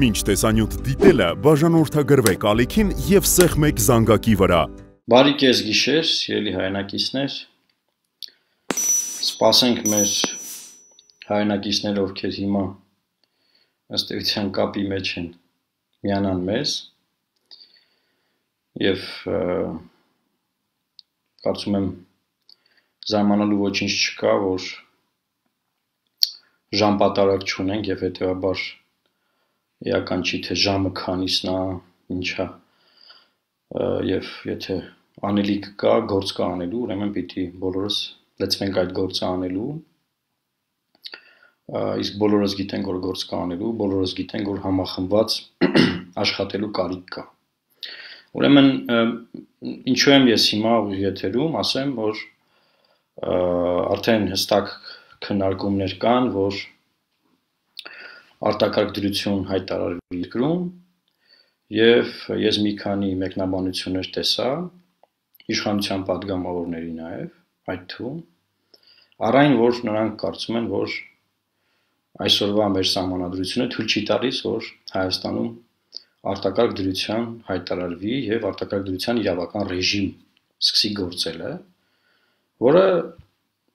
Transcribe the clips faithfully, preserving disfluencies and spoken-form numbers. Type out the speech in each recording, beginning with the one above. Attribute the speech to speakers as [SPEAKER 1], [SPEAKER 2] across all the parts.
[SPEAKER 1] Մինչ տեսանյութ դիտելը բաժանորդագրվեք ալիքին և սեղմեք զանգակի վրա։
[SPEAKER 2] Բարի կես գիշեր, սիրելի հայրենակիցներ, սպասենք մեր հայրենակիցները, ովքեր հիմա ըստ էության կապի մեջ են, միանան մեզ և կարծում եմ զարմանալու ոչինչ չկա, որ ժամ պատարակ չունենք և հետևաբար էական չի, թե ժամը քանիսն է, ինչա, և եթե անելիք կա, գործ կա անելու, ուրեմն պիտի բոլորս լծվենք այդ գործը անելու, իսկ բոլորս գիտենք, որ գործ կա անելու, բոլորս գիտենք, որ համախմբված աշխատելու կարիք կա։ Ուրեմն, ինչու եմ ես հիմա ուղիղ եթերում, ասեմ, որ արդեն հստակ քննարկումներ կան, որ արտակարգ դրություն հայտարարվի երկրում և ես մի քանի մեկնաբանություններ տեսա, իշխանության պատգամավորների նաև, այդ թվում, առայն որ նրանք կարծում են, որ այսօրվա մեր սահմանադրությունը թույլ չի տալիս, որ Հայաստանում արտակարգ դրության հայտարարվի և արտակարգ դրության իրավական ռեժիմ սկսի գործելը, որը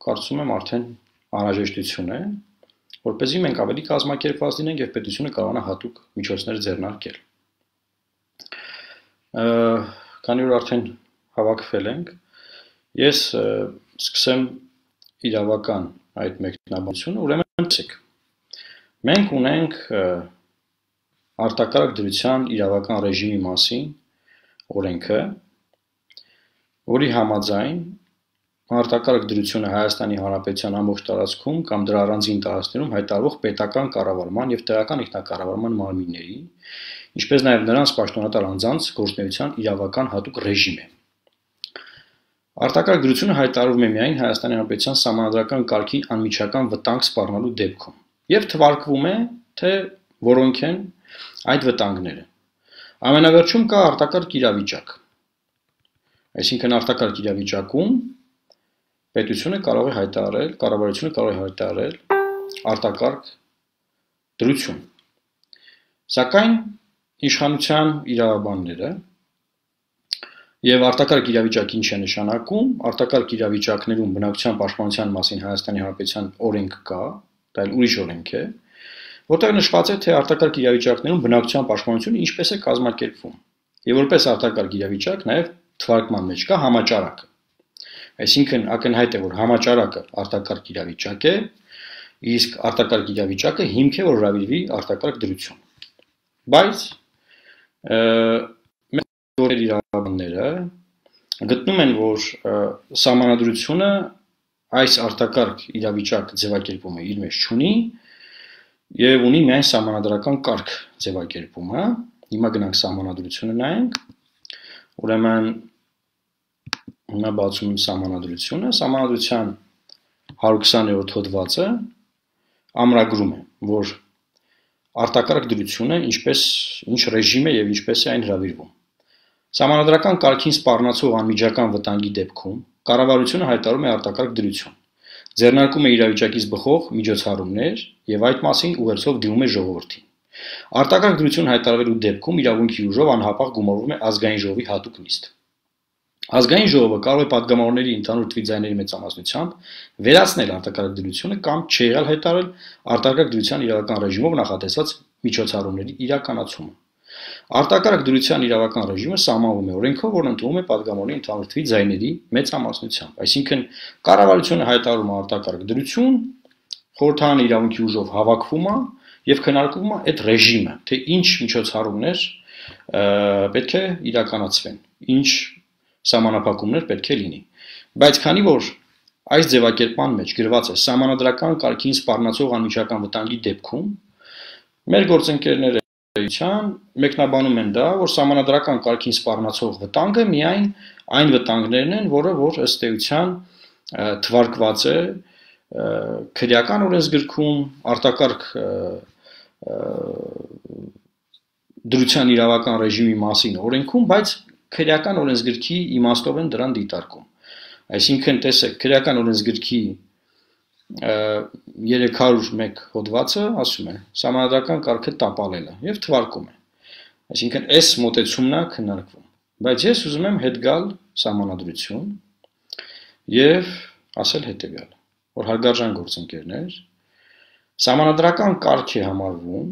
[SPEAKER 2] կարծում եմ արդեն անհրաժեշտություն է, որպեսզի մենք ավելի կազմակերպված լինենք և պետությունը կարողանա հատուկ միջոցներ ձեռնարկել։ Քանի որ արդեն հավաքվել ենք, ես սկսեմ իրավական այդ մեկնաբանությունը, ուրեմն տեսեք, մենք ունենք արտակարգ դրության իրավական ռեժիմի մասին օրենքը, որի համաձայն արտակարգ դրությունը Հայաստանի Հանրապետության ամբողջ տարածքում կամ դրա առանձին տարածքներում հայտարարվող պետական կառավարման և տեղական ինքնակառավարման մարմինների, ինչպես նաև նրանց պաշտոնատար անձանց գործունեության իրավական հատուկ ռեժիմ է։ Արտակարգ դրությունը հայտարարվում է միայն Հայաստանի Հանրապետության սահմանադրական կարգին անմիջական վտանգ սպառնալու դեպքում և թվարկվում է, թե որոնք են այդ վտանգները։ Ամենավերջում կա արտակարգ իրավիճակ, այսինքն արտակարգ իրավիճակում պետությունը կարող է հայտարարել, կառավարությունը կարող է հայտարարել արտակարգ դրություն։ Սակայն իշխանության իրավաբանները և արտակարգ իրավիճակ ինչ է նշանակում, արտակարգ իրավիճակներում բնակչության պաշտպանության մասին Հայաստանի Հանրապետության օրենք կա, դա էլ ուրիշ օրենք է, որտեղ նշված է, թե արտակարգ իրավիճակներում բնակչության պաշտպանությունը ինչպես է կազմակերպվում, և որպես արտակարգ իրավիճակ նաև թվարկման մեջ կա համաճարակը։ Այսինքն ակնհայտ է, որ համաճարակը արտակարգ իրավիճակ է, իսկ արտակարգ իրավիճակը հիմք է, որ հրավիրվի արտակարգ դրություն։ Բայց մեր իրավաբանները գտնում են, որ սահմանադրությունը այս արտակարգ իրավիճակ ձևակերպումը իր մեջ չունի և ունի միայն սահմանադրական կարգ ձևակերպումը։ Հիմա գնանք սահմանադրությունը նայենք, ուրեմն հիմա բացում եմ սահմանադրությունը, սահմանադրության հարյուր քսաներորդ հոդվածը ամրագրում է, որ արտակարգ դրությունը ինչպես, ինչ ռեժիմ է և ինչպես է այն հրավիրվում։ Սահմանադրական կարգին սպառնացող անմիջական վտանգի դեպքում կառավարությունը հայտարարում է արտակարգ դրություն, ձեռնարկում է իրավիճակից բխող միջոցառումներ և այդ մասին ուղերձով դիմում է ժողովրդին։ Արտակարգ դրություն հայտարարվելու դեպքում իրավունքի ուժով անհապաղ գումարվում է ազգային ժողովի հատուկ նիստ։ Ազգային ժողովը կարող է պատգամավորների ընդհանուր թվի ձայների մեծամասնությամբ վերացնել արտակարգ դրությունը կամ չեղյալ հայտարարել արտակարգ դրության իրավական ռեժիմով նախատեսված միջոցառումների իրականացումը։ Արտակարգ դրության իրավական ռեժիմը սահմանվում է օրենքով, որն ընդունվում է պատգամավորների ընդհանուր թվի ձայների մեծամասնությամբ։ Այսինքն կառավարությունը հայտարարում է արտակարգ դրություն, խորհրդարանը իրավունքի ուժով հավաքվում է և քննարկվում է այդ ռեժիմը, թե ինչ միջոցառումներ պետք է իրականացվեն, ինչ սահմանափակումներ պետք է լինի։ Բայց քանի որ այս ձևակերպման մեջ գրված է սահմանադրական կարգին սպառնացող անմիջական վտանգի դեպքում, մեր գործընկերները մեկնաբանում են դա, որ սահմանադրական կարգին սպառնացող վտանգը միայն այն վտանգներն են, որը որ ըստ էության թվարկված է քրեական օրենսգրքում, արտակարգ դրության իրավական ռեժիմի մասին օրենքում, բայց քրեական օրենսգրքի իմաստով են դրան դիտարկում։ Այսինքն, տեսեք, քրեական օրենսգրքի երեք հարյուր մեկ հոդվածը ասում է սահմանադրական կարգը տապալելը եւ թվարկում է։ Այսինքն այս մոտեցումն է քննարկվում։ Բայց ես ուզում եմ հետ գալ սահմանադրություն եւ ասել հետեւյալը, որ հարգարժան գործընկերներ, սահմանադրական կարգ է համարվում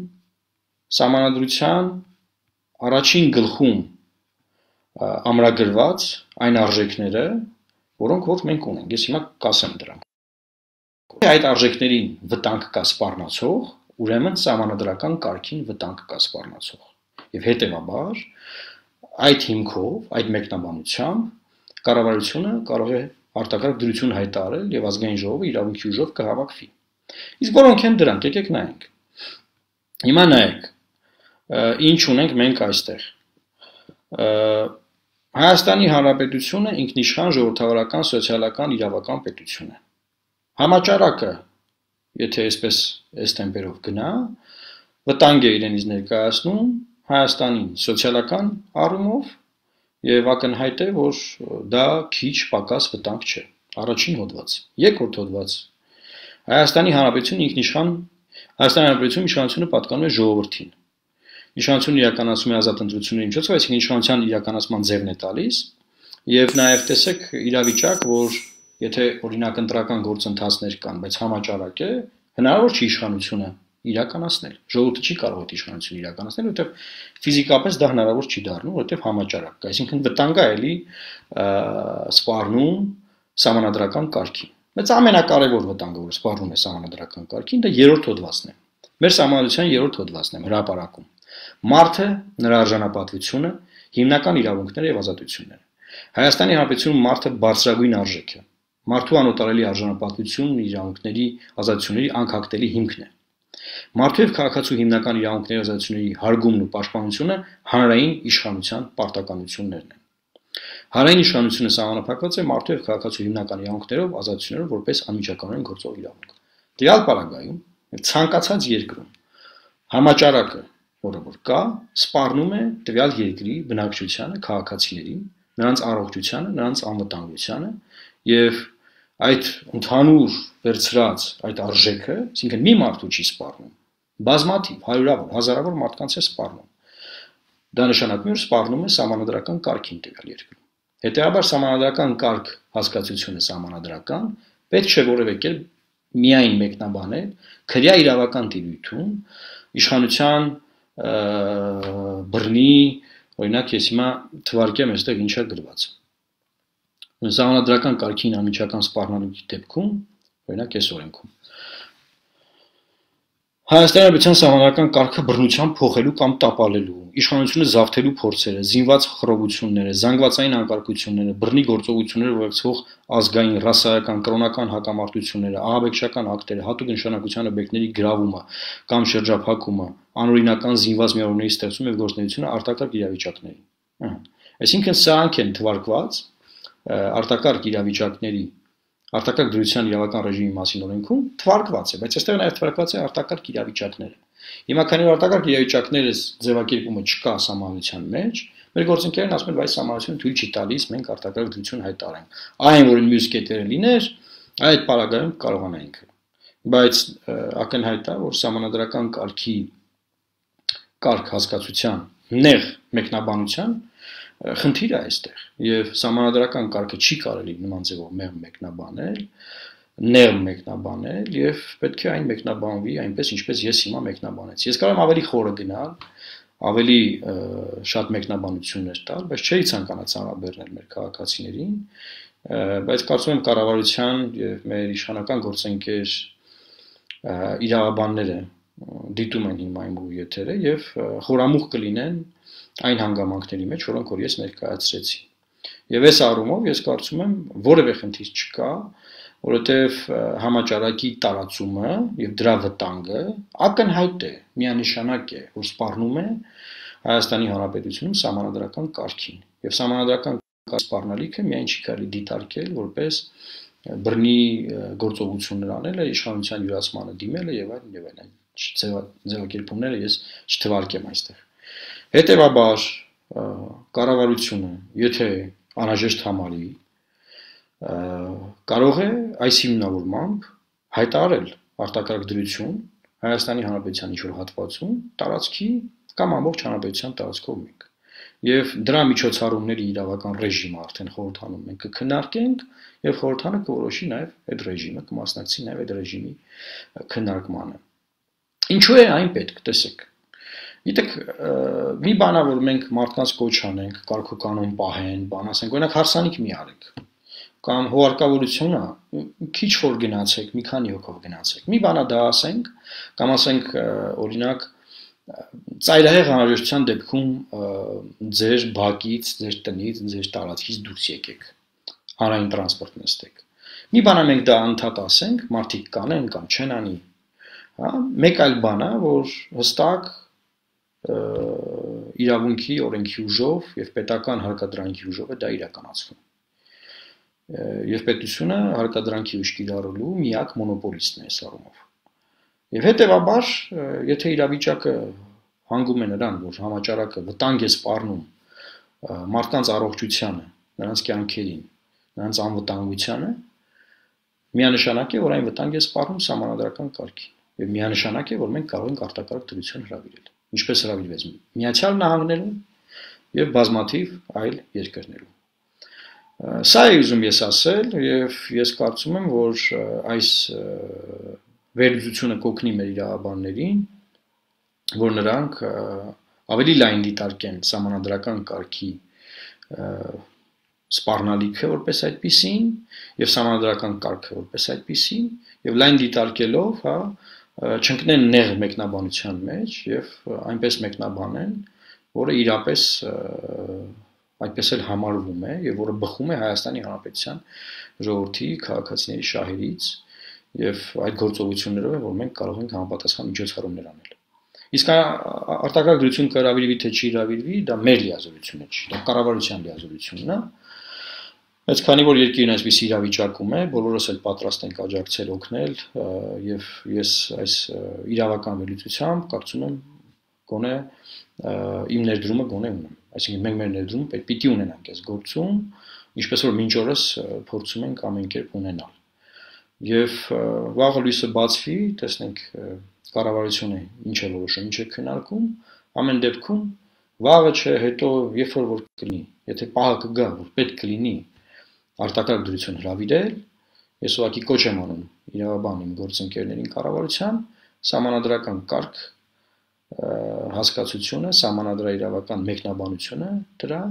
[SPEAKER 2] սահմանադրության առաջին գլխում ամրագրված այն արժեքները, որոնք որ մենք ունենք։ Ես հիմա կասեմ դրանք։ Այդ արժեքներին վտանգ կա սպառնացող, ուրեմն սահմանադրական կարգին վտանգ կա սպառնացող։ Եվ հետևաբար այդ հիմքով, այդ մեկնաբանությամբ կառավարությունը կարող է արտակարգ դրություն հայտարարել եւ ազգային ժողովը իրավունքի ուժով կհավաքվի։ Իսկ որոնք են դրանք, եկեք նայենք։ Հիմա նայեք, ինչ ունենք մենք այստեղ։ Հայաստանի Հանրապետությունը ինքնիշխան ժողովրդավարական սոցիալական իրավական պետություն է։ Համաճարակը, եթե այսպես այս տեմպերով գնա, վտանգ է իրենից ներկայացնում Հայաստանին սոցիալական առումով եւ ակնհայտ է, որ դա քիչ պակաս վտանգ չէ։ Առաջին հոդված, երկրորդ հոդված։ Հայաստանի Հանրապետությունը ինքնիշխան Հայաստանի Հանրապետությունում իշխանությունը պատկանում է ժողովրդին։ Իշխանությունը իրականացում է ազատ ընտրությունների միջոցով, այսինքն իշխանության իրականացման ձևն է տալիս եւ նաեւ տեսեք իրավիճակ, որ եթե օրինակ ընտրական գործընթացներ կան, բայց համաճարակ է, հնարավոր չի իշխանությունը իրականացնել։ Ժողովուրդը չի կարող այդ իշխանությունը իրականացնել, որովհետև ֆիզիկապես դա հնարավոր չի դառնում, որովհետև համաճարակ կա, այսինքն վտանգ է էլի սպառնում սահմանադրական կարգին։ Բայց ամենակարևոր վտանգը, որ սպառնում է սահմանադրական կարգին, դա երրորդ հոդվածն է։ Մեր սահմանադրության երրորդ հոդվածն է հրապարակում։ Մարդը, նրա արժանապատվությունը, հիմնական իրավունքները եւ ազատությունները։ Հայաստանի Հանրապետությունում մարդը բարձրագույն արժեք է։ Մարդու անօտարելի արժանապատվությունն իրավունքների, ազատությունների անկախտելի հիմքն է։ Մարդու եւ քաղաքացու հիմնական իրավունքների ազատությունների հարգումն ու պաշտպանությունը հանրային իշխանության պարտականություններն են։ Հանրային իշխանությունը սահմանափակված է մարդու եւ քաղաքացու հիմնական իրավունքներով, ազատություններով որպես անմիջականորեն գործող իրավունք։ Դրալ պարագայում ցանկացած երկրում համաճարակը, որը որ կա, սպառնում է տվյալ երկրի բնակչությանը, քաղաքացիներին, նրանց առողջությանը, նրանց անվտանգությանը եւ այդ ընդհանուր վերցրած այդ արժեքը, այսինքն մի մարդու չի սպառնում, բազմաթիվ, հարյուրավոր, հազարավոր մարդկանց է սպառնում։ Դա նշանակում է, որ սպառնում է սահմանադրական կարգին տվյալ երկրում։ Հետեւաբար սահմանադրական կարգ հասկացությունը սահմանադրական պետք չէ որևէ կերպ միայն մեկնաբանել քրյա իրավական տիրույթում իշխանության բռնի, օրինակ ես հիմա թվարկեմ այստեղ ինչա գրված։ Սահմանադրական կարգին անմիջական սպառնալուքի դեպքում, օրինակ այս օրենքում Հայաստանի Հանրապետության սահմանադրական կարգը բռնությամբ փոխելու կամ տապալելու, իշխանությունը զավթելու փորձերը, զինված խռովությունները, զանգվածային անկարգությունները, բռնի գործողությունները ուղեկցող ազգային, ռասայական, կրոնական հակամարտությունները, ահաբեկչական ակտերը, հատուկ նշանակության օբյեկտների գրավումը կամ շրջափակումը, անօրինական զինված միավորների ստեղծումը եւ գործունեությունը արտակարգ իրավիճակների։ Այսինքն սրանք են թվարկված արտակարգ իրավիճակների արտակարգ դրության իրավական ռեժիմի մասին օրենքում թվարկված է, բայց այստեղ նաև թվարկված է արտակարգ իրավիճակները։ Հիմա քանի որ արտակարգ իրավիճակները ձևակերպումը չկա սահմանության մեջ, մեր գործընկերներն ասում են, բայց սահմանությունը թույլ չի տալիս մենք արտակարգ դրություն հայտարարենք։ Այն որ մյուս կետերը լիներ, այդ պարագայում կարողանայինք։ Բայց ակնհայտ է, որ սահմանադրական կարգի կարգ հասկացության նեղ մեկնաբանության խնդիր է այստեղ եւ սահմանադրական կարգը չի կարելի նման ձևով մեղ մեկնաբանել, նեղ մեկնաբանել եւ պետք է այն մեկնաբանվի այնպես ինչպես ես հիմա մեկնաբանեցի։ Ես կարող եմ ավելի խորը գնալ, ավելի շատ մեկնաբանություններ տալ, բայց չէի ցանկանա ցանրաբեռնել մեր քաղաքացիներին, բայց կարծում եմ կառավարության եւ մեր իշխանական գործընկեր իրավաբանները դիտում են հիմա իմ եթերը եւ խորամուխ կլինեն այն հանգամանքների մեջ, որոնք որ ես ներկայացրեցի։ Եվ այս առումով ես կարծում եմ որևէ խնդիր չկա, որովհետև համաճարակի տարածումը եւ դրա վտանգը ակնհայտ է, միանշանակ է, որ սպառնում է Հայաստանի Հանրապետությունում սահմանադրական կարգին։ Եվ սահմանադրական սպառնալիքը միայն չի կարելի դիտարկել որպես բռնի գործողություններ անելը, իշխանության յուրացմանը դիմելը եւ այլն եւ այլն։ Ձևակերպումները ես չթվարկեմ այստեղ։ Հետևաբար կառավարությունը, եթե անհրաժեշտ համարի, կարող է այս հիմնավորմամբ հայտարարել արտակարգ դրություն Հայաստանի Հանրապետության ինչ-որ հատվածում տարածքի կամ ամբողջ հանրապետության տարածքով մենք։ Եվ դրա միջոցառումների իրավական ռեժիմը արդեն խորհրդանում մենք կքննարկենք եւ խորհրդանը կորոշի նաեւ այդ ռեժիմը կմասնակցի նաեւ այդ ռեժիմի քննարկմանը։ Ինչու է այն պետք, տեսեք։ Գիտեք, մի բանա որ մենք մարդկանց կոչ անենք, կարգոկանոն պահեն, բան ասենք, օրինակ հարսանիք մի արեք։ Կամ հոարկավորությունը քիչ որ գնացեք, մի քանի հոգով գնացեք։ Մի բանա դա ասենք, կամ ասենք օրինակ ծայրահեղ անհրաժեշտության դեպքում ձեր բակից, ձեր տնից, ձեր տարածքից դուրս եկեք։ Հանրային տրանսպորտ նստեք։ Մի բանա մենք դա անդադ ասենք, մարդիկ կանեն կամ չեն անի։ Հա, մեկ այլ բան է, որ հստակ իրավունքի օրենքի ուժով եւ պետական հարկադրանքի ուժով է դա իրականացվում։ Եվ պետությունը հարկադրանքի ուժ կիրառելու միակ մոնոպոլիստն է այս առումով։ Եվ հետեւաբար, եթե իրավիճակը հանգում է նրան, որ համաճարակը վտանգ է սպառնում մարդկանց առողջությանը, նրանց կյանքերին, նրանց անվտանգությանը, միանշանակ է, որ այն վտանգ է սպառնում սահմանադրական կարգին։ Եվ միանշանակ է, որ մենք կարող ենք արտակարգ դրություն հրավիրել, ինչպես հրավիրվեց Միացյալ Նահանգներում եւ բազմաթիվ այլ երկրներում։ Սա է ուզում ես ասել եւ ես կարծում եմ, որ այս վերլուծությունը կօգնի մեր իրավաբաններին, որ նրանք ավելի լայն դիտարկեն սահմանադրական կարգի սպառնալիքը որպես այդպիսին եւ սահմանադրական կարգը որպես այդպիսին եւ լայն դիտարկելով, հա, չընկնեն նեղ մեկնաբանության մեջ եւ այնպես մեկնաբանեն, որը իրապես այդպես էլ համարվում է եւ որը բխում է Հայաստանի Հանրապետության ժողովրդի քաղաքացիների շահերից եւ այդ գործողություններով է, որ մենք կարող ենք համապատասխան միջոցառումներ անել։ Իսկ արտակարգ դրություն կհրավիրվի թե չի հրավիրվի, դա մեր լիազորությունն է, դա կառավարության լիազորությունն է։ Բայց քանի որ երկիրն այսպես իրավիճակում է, բոլորս էլ պատրաստ ենք աջակցել օգնել եւ ես այս իրավական վերլուծությամբ կարծում եմ գոնե իմ ներդրումը գոնե ունեմ։ Այսինքն մենք մեր ներդրումը պետք պիտի ունենանք այս գործում, ինչպես որ մինչ օրս փորձում ենք ամեն կերպ ունենալ։ Եվ վաղը լույսը բացվի, տեսնենք կառավարությունը ինչ է որոշում, ինչ է քննարկում, ամեն դեպքում վաղը չէ, հետո երբ որ որ կլինի, եթե պահը կգա, որ պետք կլինի արտակարգ դրություն հրավիրել, ես ուղղակի կոչ եմ անում իրավաբան իմ գործընկերներին կառավարության, սահմանադրական կարգ հասկացությունը, սահմանադրաիրավական մեկնաբանությունը դրա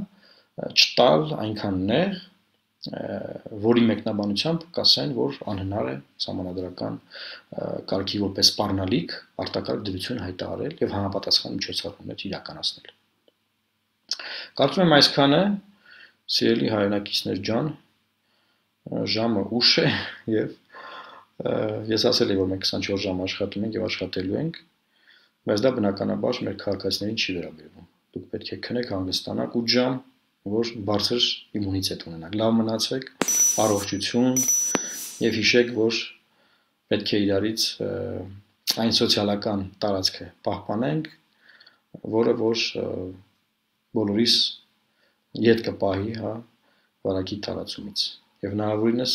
[SPEAKER 2] չտալ այնքան նեղ, որի մեկնաբանությամբ կասեն, որ անհնար է սահմանադրական կարգի որպես սպառնալիք արտակարգ դրություն հայտարարել եւ համապատասխան միջոցառումներ իրականացնել։ Կարծում եմ այսքանը, սիրելի հայրենակիցներ ջան, ժամը ուշ է եւ ես ասել եմ, որ մենք քսանչորս ժամ աշխատում ենք եւ աշխատելու ենք, բայց դա բնականաբար մեր քաղաքացիներին չի վերաբերվում։ Դուք պետք է քնեք, հանգստանաք ութ ժամ, որ բարձր իմունիտետ ունենաք։ Լավ մնացեք, առողջություն եւ հիշեք, որ պետք է իրարից այն սոցիալական տարածքը պահպանենք, որը որ բոլորիս ետ կպահի, հա, վարակի տարածումից։ Եվ հնարավորինս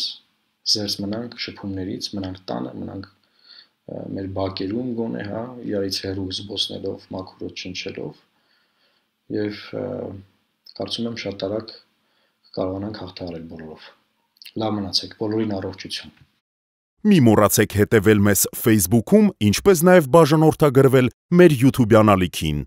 [SPEAKER 2] զերծ մնանք շփումներից, մնանք տանը, մնանք մեր բակերում գոնե, հա, իրարից հեռու զբոսնելով, մաքուր չնչելով եւ կարծում եմ շատ արագ կարողանանք հաղթահարել բոլորով։ Լավ մնացեք, բոլորին առողջություն։
[SPEAKER 1] Մի մոռացեք հետևել մեզ Facebook-ում, ինչպես նաև բաժանորդագրվել մեր YouTube-յան ալիքին։